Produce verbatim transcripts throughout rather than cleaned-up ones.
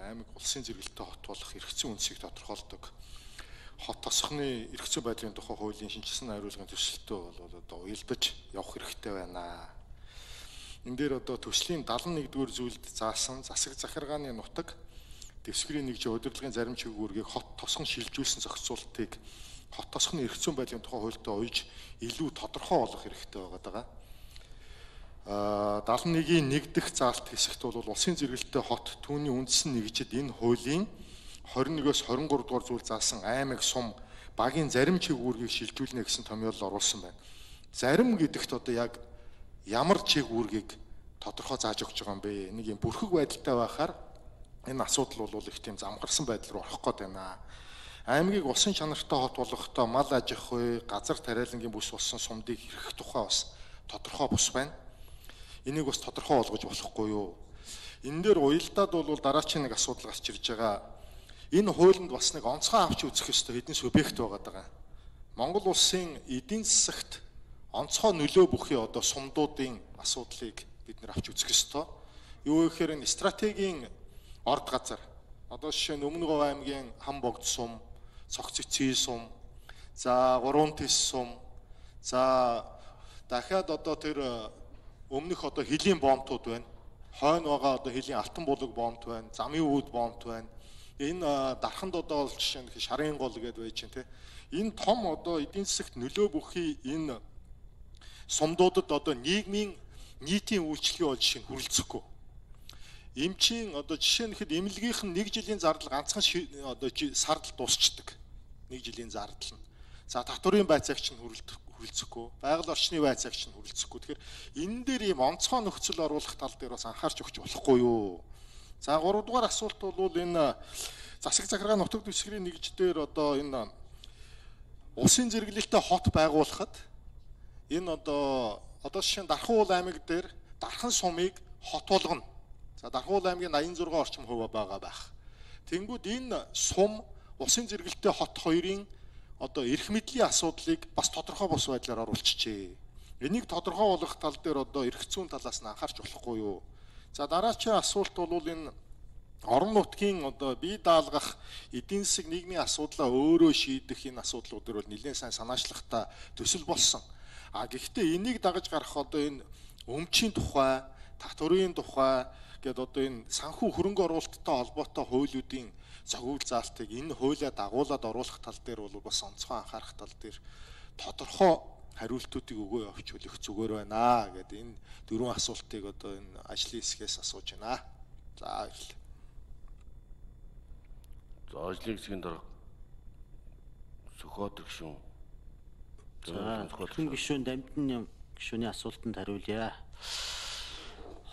аймаг улсын зэрэгэлтэй хот болох эрх зүйн үндсийг тодорхойлдог хот тосгоны эрх зүйн байдлын тухай хуулийн шинжилсэн хариулгын төсөлтөө бол одоо уялдаж явах хэрэгтэй байна. Энэ дээр одоо төслийн дагалан нэгдүгээр зүйлд заасан засаг захиргааны нутаг дэвсгэрийн нэгжийн удирдлагын зарим чиглэлүүргийг хот тосгон шилжүүлсэн зохицуултыг хот тосгоны эрх зүйн байдлын тухай хуультай уйж илүү тодорхой болгох хэрэгтэй байгаа. дагалан нэгний нэг дэх заалт хэсэгт бол улсын зэрэгэлтэй хот түүний үндэс нэгжид энэ хуулийн хорин нэгээс хорин гурав дугаар зүйл заасан аймаг сум багийн зарим чиглэлүүргийг шилжүүлнэ гэсэн томьёолол оруулсан байна. Зарим гэдэгт одоо яг ямар чиглэлүүргийг тодорхой зааж өгч байгаа юм бэ? Нэг юм бүрхэг байдалтай байхаар энэ асуудал бол их тийм замгарсан байдал руу орох гээд байна. Аймгийг улсын чанартай хот болгохдоо мал аж ахуй, газар тариалангийн бүс болсон сумдыг хэрхэх тухай бас тодорхой бус байна. Энийг бас тодорхой болгож болохгүй юу? Энэ дээр уялдаад бол дараачийн нэг асуудал гарч ирж байгаа. Энэ хуулинд бас нэг онцгой авч үзэх ёстой хэдэн субъект байгаа даа. Монгол улсын эдийн засагт онцгой нөлөө бүхий одоо сумдуудын асуудлыг бид нэр авч үзэх ёстой. Юу гэхээр энэ стратегийн орд газар. Одоо жишээ нь Өмнө Говь аймгийн Хамбогд сум, Цогцөцгийн сум, за Гурван Тис сум, за дахиад одоо тэр өмнөх одоо хилийн боомтууд байна. Хойно байгаа одоо хилийн алтан булаг боомт байна. Замын үүд боомт байна. Энэ дарханд одоо жишээ нь шарын гол гэдээ байж чинь те. Энэ том одоо эдийн засагт нөлөө бүхий энэ сумдуудад одоо нийгмийн нийтийн үйлчлэгээ бол жишээ нь хүрэлцэхгүй. Эмчийн одоо жишээ нь хэд эмнэлгийнх нь нэг жилийн зардал ганцхан одоо сард дуусчдаг. Нэг жилийн зардал нь. За татврын байцаагч нь хүрэлцэхгүй. хүрэлцэхгүй. Байгаль орчны байцаагч нь хүрэлцэхгүй. Тэгэхээр энэ дээр ийм онцгой нөхцөл оруулах тал дээр бас анхаарч өгч болохгүй юу? За гурав дугаар асуулт бол энэ засаг захиргааны нутаг дэвсгэрийн нэгж дээр одоо энэ улсын зэрэглэлтэй хот байгуулахад энэ одоо одоо жишээ нь Дархан аймаг дээр Дархан сумыг хот болгоно. За Дархан аймгийн аян зургаан орчим хувь байгаа байх. Тэнгүүд энэ сум улсын зэрэглэлтэй хот хоёрын одоо эрх мэдлийн асуудлыг бас тодорхой бус байдлаар оруулчихжээ. Энийг тодорхой болгох тал дээр одоо эрх зүйн талаас нь анхаарч болохгүй юу? За дараачийн асуулт бол энэ орон нутгийн одоо бие даалгах эдийн засаг нийгмийн асуудлаа өөрөө шийдэх энэ асуудлууд дээр бол нэлээд сайн санаачлагтай төсөл болсон. А гэхдээ энийг дагаж гарах одоо энэ өмчийн тухай, татврын тухай гэдэг одоо энэ санхүү хөрөнгө оруулалттай холбоотой хуулиудын зохиол заалтыг энэ хуулиа дагуулад оруулах тал дээр бол бас онцгой анхаарах тал дээр тодорхой хариултуудыг өгөө явж хөлөх зүгээр байна гэдэг энэ дөрвөн асуултыг одоо энэ ажлын хэсгээс асууж байна. За баярлалаа. За ажлын хэсгийн дараа Сүхбаатар гишүүн. За Сүхбаатар гишүүн Дамжин гишүүний асуултанд хариулъя.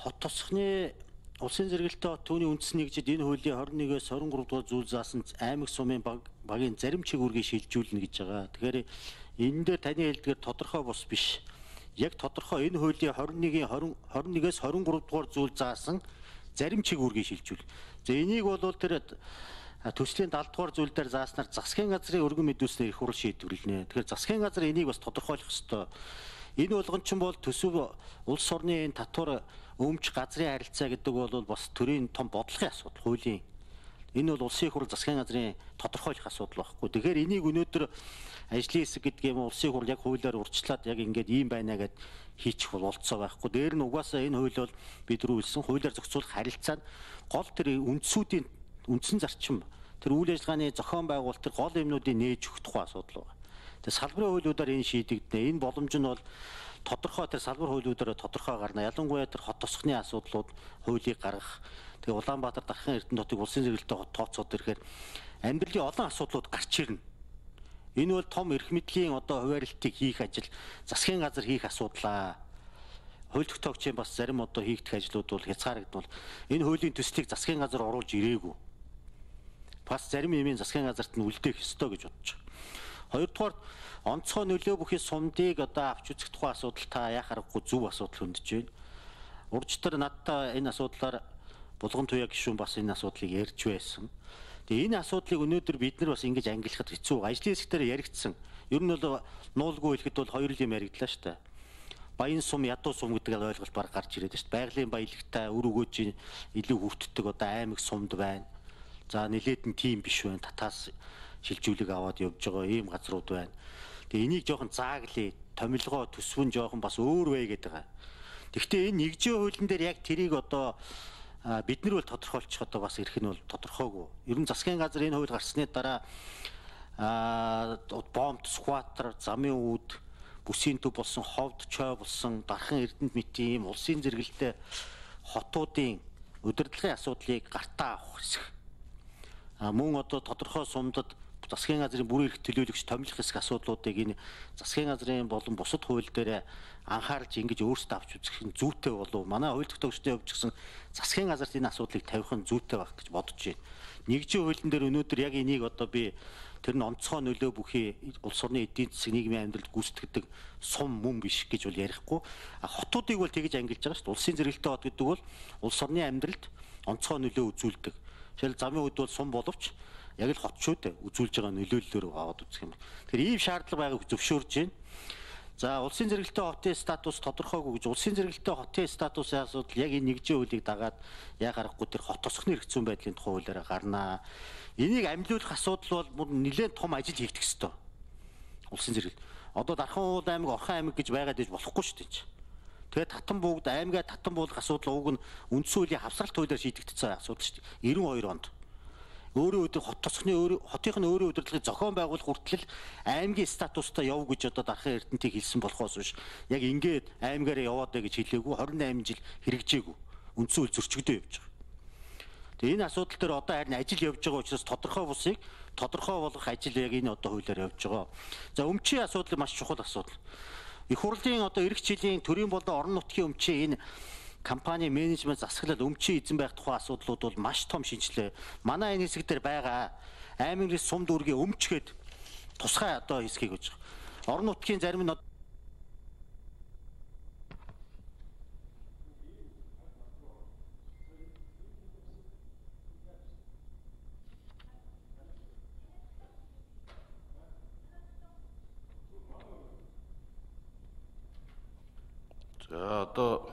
Хот тосгоны улсын зэрэгэлтэй хот түүний үндэс нэгжид энэ хуулийн хорин нэгээс хорин гурав дугаар зүйл заасан аймаг сумын багийн зарим чиглэлүүргийг шилжүүлнэ гэж байгаа. Тэгэхээр энэ дээр таны хэлдгээр тодорхой бус биш. Яг тодорхой энэ хуулийн хорин нэгний хорин нэгээс хорин гурав дугаар зүйл заасан зарим чиглэлүүргийг шилжүүл. За энийг бол тэр төслийн дагалт дугаар зүйл дээр зааснаар засгийн газрын өргөн мэдүүлснээр их хурл шийдвэрлэнэ. Тэгэхээр засгийн газар энийг бас тодорхойлох ёстой. Энэ болгон ч бол төсөв улс орны энэ татвар өмч газрын харилцаа гэдэг бол бас төрийн том бодлогын асуудал, хуулийн. Энэ бол улсын хурл засгийн газрын тодорхойлох асуудал байхгүй. Тэгэхээр энийг өнөөдөр ажлын хэсэг гэдэг юм улсын хурл яг хуулиар урьдчилаад яг ингээд ийм байна гэд хийчих бололцоо байхгүй. Дээр нь угаасаа энэ хууль бол бид рүүлсэн хуулиар зохицуулах харилцаа гол тэр үндсүүдийн үндсэн зарчим тэр үйл ажиллагааны зохион байгуулалт тэр гол юмнуудыг нээж өгөх тухай асуудал байна. Тэгээ салбарын хуулиудаар энэ шийдэгдэнэ. Энэ боломж нь бол тодорхой тэр салбар хуулиудаар тодорхой гарна. Ялангуяа тэр хот тосгоны асуудлууд хуулийг гаргах. Тэгээ Улаанбаатар Дархан Эрдэнэ хотыг улсын зэрэгэлтэй хот тооцоод ирэхээр амьдралын олон асуудлууд гарч ирнэ. Энэ бол том эрх мэдлийн одоо хуваарлтыг хийх ажил засгийн газар хийх асуудлаа. Хууль тогтоогчийн бас зарим одоо хийгдэх ажлууд бол хязгаарлагдвал энэ хуулийн төслийг засгийн газар оруулж ирээгүй. Бас зарим юмын засгийн газарт нь үлдээх ёстой гэж бодож байна. Хоёрдугаар онцгой нөлөө бүхий сумдыг одоо авч үзэх тухай асуудал та яах аргагүй зөв асуудал хөндөж байна. Урьдчилан надтай энэ асуудлаар Булган Туяа гишүүн бас энэ асуудлыг ярьж байсан. Тэгээ энэ асуудлыг өнөөдөр бид нар бас ингэж ангилахад хэцүү. Ажлын хэсгээр яригдсан. Ер нь бол нуулгүй хэлэхэд бол хоёр юм яригдлаа шүү дээ. Баян сум, ядуу сум гэдэг ойлголт баг гарч ирээд шүү дээ. Байгалийн баялагтай, өр өгөөжийн илүү хүртдэг одоо аймаг сумд байна. За нилээд нь тийм биш байна. Татаас шилжүүлэг аваад явж байгаа ийм газрууд байна. Тэгээ энийг жоохон зааглая, томилгоо төсвөн жоохон бас өөр вэ гэдэг байгаа. Гэхдээ энэ нэгжийн хуулийн дээр яг тэрийг одоо бид нар бол тодорхойлчих одоо бас ирэх нь бол тодорхойгүй. Ер нь засгийн газар энэ хууль гарсны дараа а бомб, скватер, замын үүд, бүсийн төв болсон, ховд, чой болсон, дархан эрдэнэт мэтийн ийм улсын зэрэгэлтэй хотуудын удирдлагын асуудлыг гартаа авах хэсэг. А мөн одоо тодорхой сумдад засгийн газрын бүрэн эрх төлөөлөгч томилох хэсэг асуудлуудыг энэ засгийн газрын болон бусад хууль дээр анхаарч ингэж өөрсдөө авч үзэх нь зүйтэй болов. Манай хууль тогтоогчдын хувьд гэсэн засгийн газарт энэ асуудлыг тавих нь зүйтэй байх гэж бодож байна. Нэгжийн хуулийн дээр өнөөдөр яг энийг одоо би тэр нь онцгой нөлөө бүхий улс орны эдийн засаг нийгмийн амьдралд гүйцэтгэдэг сум мөн биш гэж бол ярихгүй. Хотуудыг бол тэгж ангилж байгаа шүү дээ. Улсын зэрэгэлтэй хот гэдэг бол улс орны амьдралд онцгой нөлөө үзүүлдэг. Жишээл замын үд бол сум боловч яг л хот шүү дээ. Үзүүлж байгаа нөлөөллөөр аваад үзэх юм. Тэгэхээр ийм шаардлага байгааг зөвшөөрж байна. За улсын зэрэгэлтэй хотын статус тодорхойгүй гэж улсын зэрэгэлтэй хотын статусын асуудал яг энэ нэгжийн хуулийг дагаад яг аргагүй тэр хот тосхны эрх зүйн байдлын тухай хуулиараа гарнаа. Энийг амжиулах асуудал бол нэлээд том ажил хийгдэх ёстой. Улсын зэрэгэл. Одоо Дархан уул аймаг, Орхон аймаг гэж байгаад иж болохгүй шүү дээ. Тэгээд Татан бүгд аймгаа татан буулгах асуудал уг нь үндсэн хуулийн хавсгалт хуулиар шийдэгдсэн асуудал шүү дээ. девяносто хоёр онд. Өөрөө өдөр хот тосхны өөрөө хотынх нь өөрөө удирдлагыг зохион байгуулах хүртэл аймгийн статустай яв гэж одоо Дархан Эрдэнэтийг хэлсэн болохоос биш. Яг ингээд аймгаараа яваад бай гэж хэлээгүй двадцать восемь жил хэрэгжээгүй. Үндсэн хууль зөрчигдөө явж байгаа. Тэгээ энэ асуудал дээр одоо харин ажил явж байгаа учраас тодорхой бусыг тодорхой болгох ажил яг энэ одоо хуулиар явж байгаа. За өмчийн асуудал маш чухал асуудал. Их хурлын одоо эх жилийн төрийн болон орон нутгийн өмчийн энэ компани менежмент засаглал өмчийн эзэн байх тухай асуудлууд бол маш том шинжилгээ. Манай энэ хэсэг дээр байгаа аймгийн сум дүүргийн өмчгээд тусгай одоо хэсгийг гэж байгаа. Орон нутгийн зарим нь За одоо